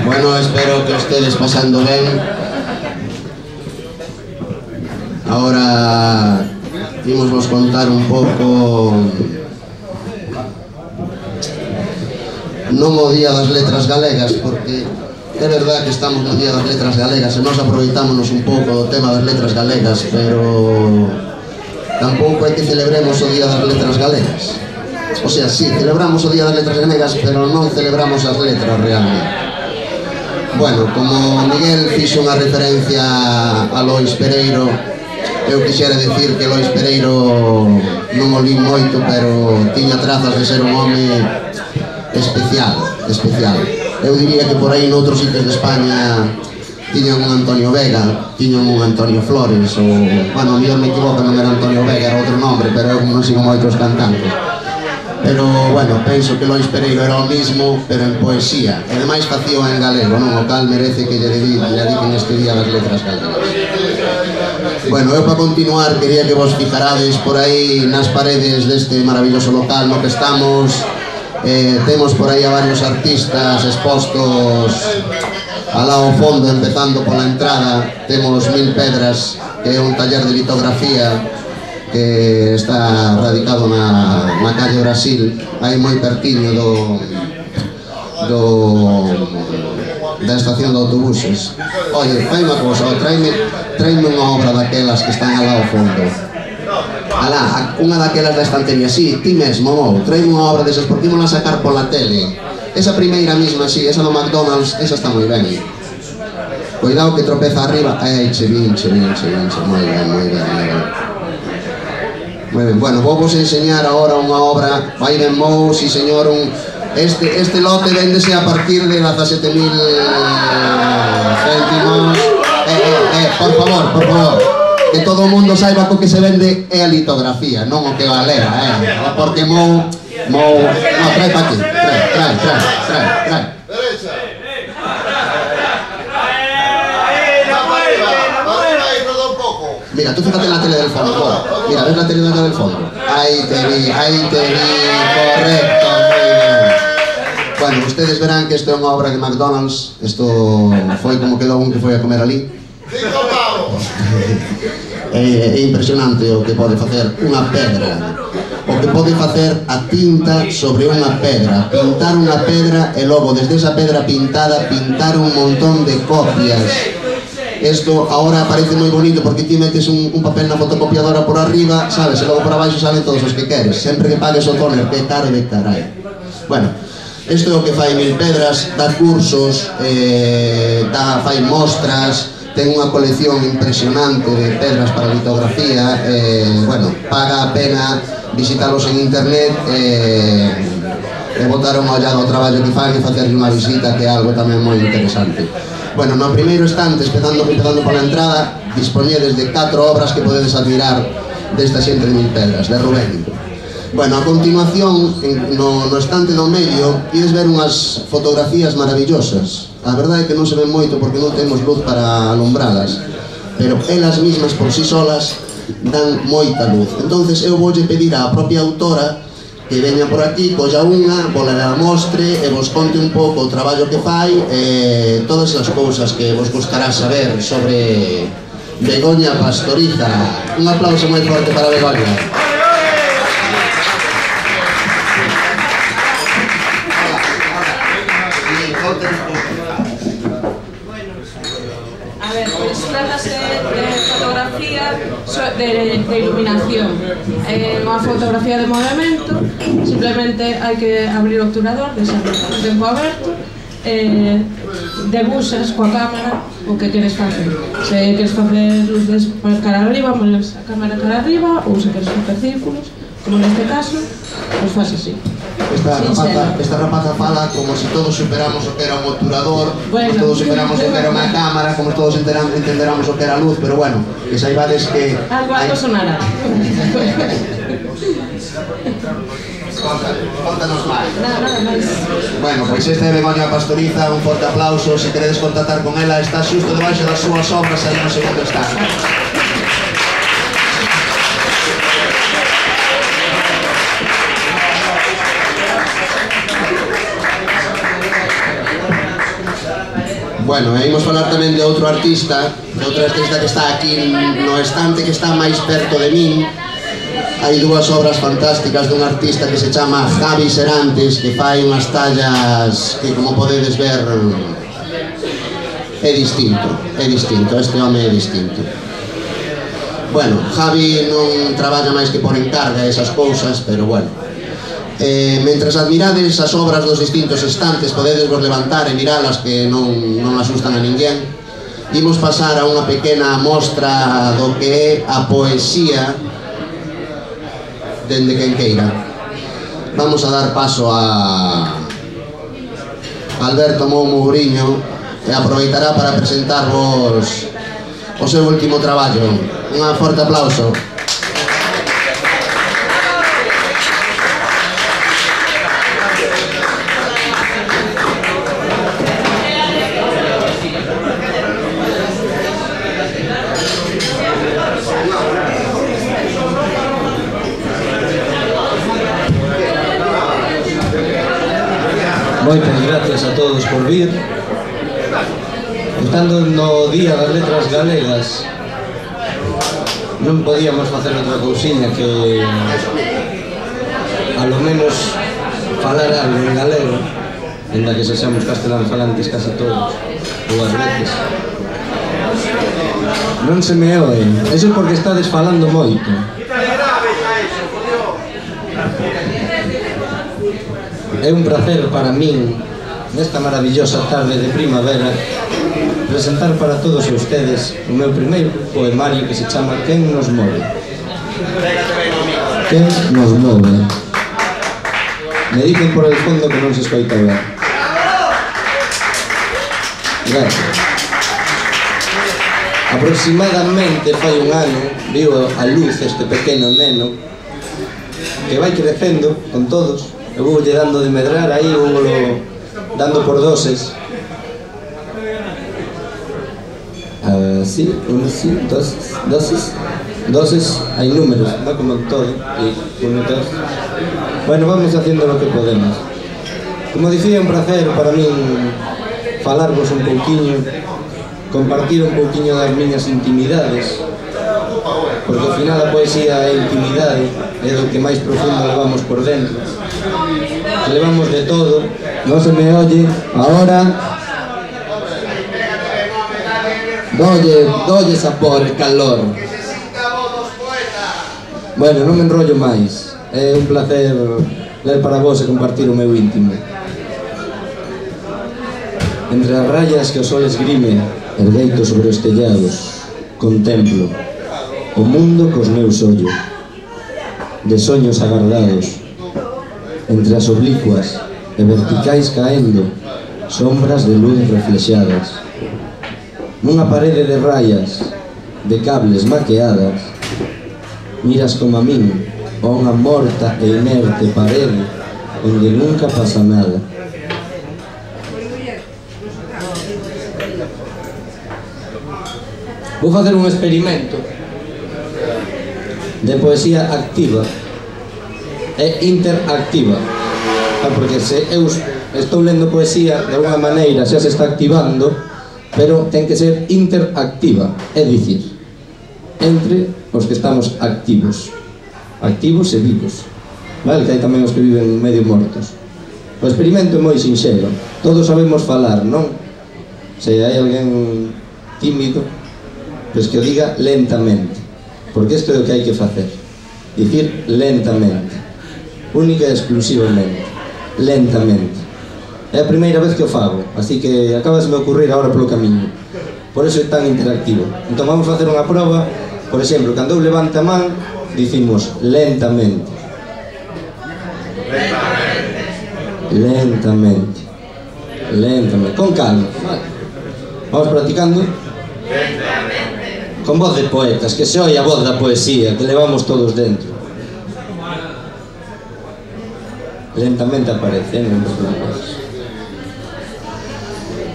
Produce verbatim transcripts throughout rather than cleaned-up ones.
Bueno, espero que estedes pasando ben. Ahora imos vos contar un pouco non o Día das Letras Galegas, porque é verdad que estamos no Día das Letras Galegas e nos aproveitámonos un pouco do tema das letras galegas, pero tampouco é que celebremos o Día das Letras Galegas. O sea, sí, celebramos o Día das Letras Galegas, pero non celebramos as letras realmente. Bueno, como Miguel fixo unha referencia a Lois Pereiro, eu quixera dicir que Lois Pereiro non o li moito, pero tiña trazas de ser un home especial, especial. Eu diría que por aí noutros sitios de España tiñan un Antonio Vega, tiñan un Antonio Flores, ou, bueno, mellor me equivoco, non era Antonio Vega, era outro nombre, pero eu non sigo moitos cantantes. Pero, bueno, penso que Lois Pereiro era o mismo, pero en poesía, e ademais facío en galego, non? O cal merece que lle dediquen este Día das Letras Galegas. Bueno, eu para continuar quería que vos fijarades por aí nas paredes deste maravilloso local no que estamos. Eh, temos por aí a varios artistas expostos alá ao fondo, empezando pola entrada. Temos Mil Pedras, que é un taller de litografía que está radicado na, na calle Brasil, aí moi pertiño do, do da estación de autobuses. Oye, fai unha cosa, traime, traime unha obra daquelas que están alá ao fondo. Alá, unha daquelas da estantería, sí, ti mesmo, mou, traime unha obra desas, porque ímola sacar pola tele. Esa primeira misma, sí, esa do McDonald's, esa está moi ben. Cuidado que tropeza arriba. Ei, che vin, che vin, che vin, che moi ben, moi ben, moi ben. Moi ben, bueno, vou vos enseñar agora unha obra, vai ben mou, si señor, un... Este, este lote véndese a partir de dezasete mil céntimos. Eh, eh, eh, por favor, por favor, que todo o mundo saiba que o que se vende é a litografía, non o que valera, eh, porque mou, mou, no, trae pa aquí, trae, trae, trae, trae, trae. Mira, tú fíjate en la tele del fondo, joder. Mira, ves la tele del fondo. Ahí te vi, ahí te vi, correcto, muy bien. Bueno, ustedes verán que isto é unha obra de McDonald's. Isto foi como quedou un que foi a comer ali. É, é impresionante o que pode facer unha pedra, o que pode facer a tinta sobre unha pedra, pintar unha pedra e logo desde esa pedra pintada pintar un montón de copias. Esto ahora parece moi bonito porque ti metes un, un papel na fotocopiadora por arriba, sabes, e logo por abaixo salen todos os que queres, sempre que pagues o toner, que caro de carai. Bueno, isto é o que fai Mil Pedras, dá cursos, eh, dá, fai mostras, ten unha colección impresionante de pedras para litografía, eh, bueno, paga a pena visitalos en internet eh, e botar unha ollada ao traballo que fan e facerlle unha visita, que é algo tamén moi interesante. Bueno, no primeiro estante, empezando, empezando pola entrada, dispoñedes de catro obras que podedes admirar desta xente de Mil Pedras, de Rubén. Bueno, a continuación, no, no estante do medio, ides ver unhas fotografías maravillosas. A verdade é que non se ven moito porque non temos luz para alumbralas, pero elas mismas por si solas dan moita luz. Entonces eu voulle pedir á propia autora que veña por aquí, colla unha, vola a mostre e vos conte un pouco o traballo que fai e todas as cousas que vos gustará saber sobre Begoña Pastoriza. Un aplauso moi forte para Begoña. A ver, pues trátase de fotografía de, de iluminación. É unha fotografía de movimento, simplemente hai que abrir o obturador, deixar o tempo aberto, e debuxas coa cámara o que queres facer. Se queres facer luces cara arriba, pones a cámara cara arriba, ou se queres facer círculos, como neste caso, pois faz así. Esta rapaza, esta rapaza fala como se todos superamos o que era un obturador, bueno, como todos superamos o que era unha cámara, como todos entenderamos o que era a luz, pero bueno, que saibades que... Algo, algo sonará. Contanos máis. Nada, nada máis. Bueno, pois esta é Begoña Pastoriza, un forte aplauso. Se queredes contactar con ela, está xusto debaixo das súas obras aí no segundo estado. Bueno, e imos falar tamén de outro artista, de outro artista que está aquí no estante, que está máis perto de min. Hai dúas obras fantásticas dun artista que se chama Javi Serantes, que fai unhas tallas que, como podedes ver, é distinto, é distinto, este home é distinto. Bueno, Javi non traballa máis que por encarga esas cousas, pero bueno. Eh, mentras admirades as obras dos distintos estantes, podedes vos levantar e miralas, que non, non asustan a ninguén. Imos pasar a unha pequena mostra do que é a poesía dende quen queira. Vamos a dar paso a Alberto Mou Mouriño, e aproveitará para presentarvos o seu último traballo. Un forte aplauso. Moitas gracias a todos por vir. Estando no Día das Letras Galegas, non podíamos facer outra cousiña que a lo menos falar algo en galego, ainda que sexamos castelán falantes casi todos, ou ás veces. Non se me oe, eso é porque estades falando moito. É un placer para min, nesta maravillosa tarde de primavera, presentar para todos ustedes o meu primeiro poemario que se chama Quen nos move. Quen nos move. Me dicen por el fondo que non se escoita ben. Gracias. Aproximadamente fai un ano viu a luz este pequeno neno que vai crecendo con todos. Eu vou lle dando de medrar aí, vou dando por doses. Así, uno así, dos, dosis. Doses, hai números, non como todo. E uno, dos. Bueno, vamos haciendo lo que podemos. Como dicía, un placer para min falarvos un pouquiño, compartir un pouquiño das miñas intimidades, porque ao final a poesía é intimidade, é do que máis profundo levamos por dentro. Levamos de todo. Non se me oye ahora. Dolle, dolle sabor, calor. Bueno, non me enrollo máis. É un placer ler para vos e compartir o meu íntimo. Entre as rayas que o sol esgrime, ergueito sobre os tellados, contemplo o mundo cos meus ollos, de soños agardados. Entre as oblicuas e verticais caendo, sombras de luz reflexadas. Nunha parede de rayas, de cables maqueadas, miras como a min, a unha morta e inerte parede onde nunca pasa nada. Vou facer un experimento de poesía activa e interactiva, porque se eu estou lendo poesía, de alguna maneira xa se está activando, pero ten que ser interactiva, é dicir, entre os que estamos activos, activos e vivos, vale? Que hai tamén os que viven medio mortos. O experimento é moi sinxelo, todos sabemos falar, non? Se hai alguén tímido, pois que o diga lentamente, porque isto é o que hai que facer, dicir lentamente, única e exclusivamente, lentamente. É a primeira vez que o fago, así que acabas de me ocurrir agora polo camiño, por eso é tan interactivo. Entón vamos a facer unha proba. Por exemplo, cando eu levante a man, dicimos lentamente, lentamente, lentamente, con calma, vale. Vamos practicando con voz de poetas, que se oia a voz da poesía que levamos todos dentro. Lentamente aparece, non vos preocupes.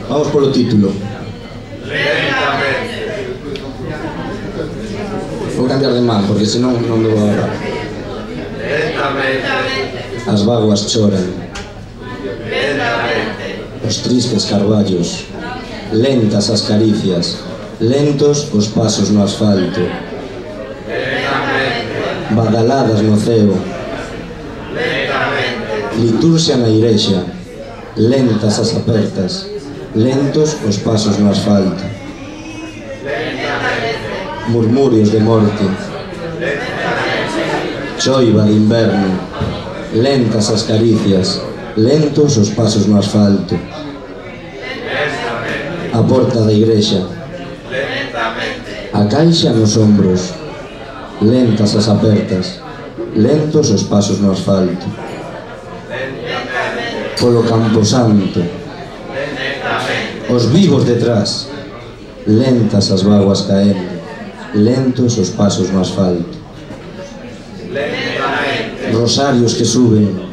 Vamos polo título. Lentamente. Vou cambiar de man, porque senón non me vou agarrar. Lentamente. As vaguas choran. Lentamente. Os tristes carballos lentas as caricias, lentos os pasos no asfalto, badaladas no ceo, liturxia na igrexa, lentas as apertas, lentos os pasos no asfalto, murmurios de morte, choiva de inverno, lentas as caricias, lentos os pasos no asfalto, a porta da igrexa, a caixa nos ombros, lentas as apertas, lentos os pasos no asfalto, polo camposanto, os vivos detrás, lentas as vaguas caendo, lentos os pasos no asfalto, rosarios que suben,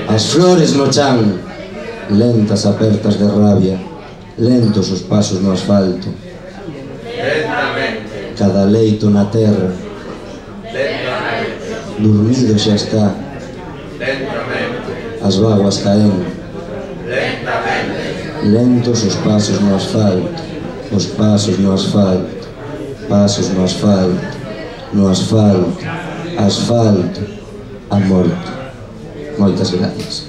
as flores no chan, lentas apertas de rabia, lentos os pasos no asfalto, cada leito na terra, dormido xa está, as vaguas caen, lentos os pasos no asfalto, os pasos no asfalto, pasos no asfalto, no asfalto, asfalto, a morte. Moitas gracias.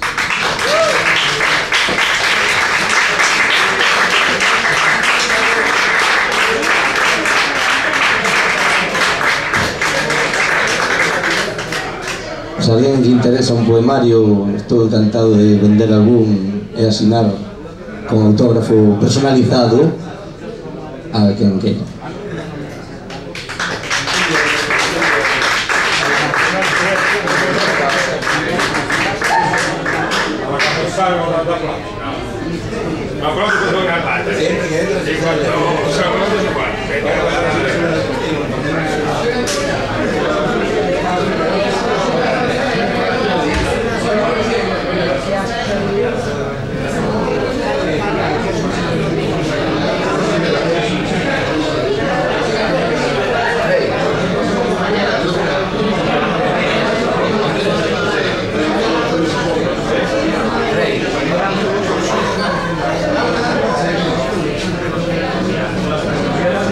Se a alguén lle interesa un poemario, estou encantado de vender algún e asinar con autógrafo personalizado a quen queira.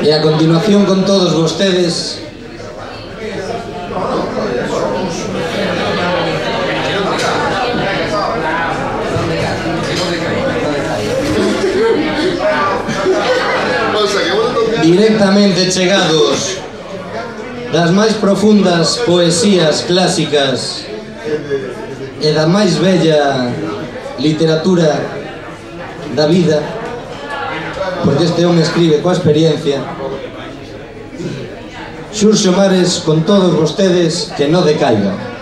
E a continuación con todos vostedes directamente chegados das máis profundas poesías clásicas e da máis bella literatura da vida, porque este home escribe coa experiencia. Xurxo Mares con todos vostedes, que non decaiga.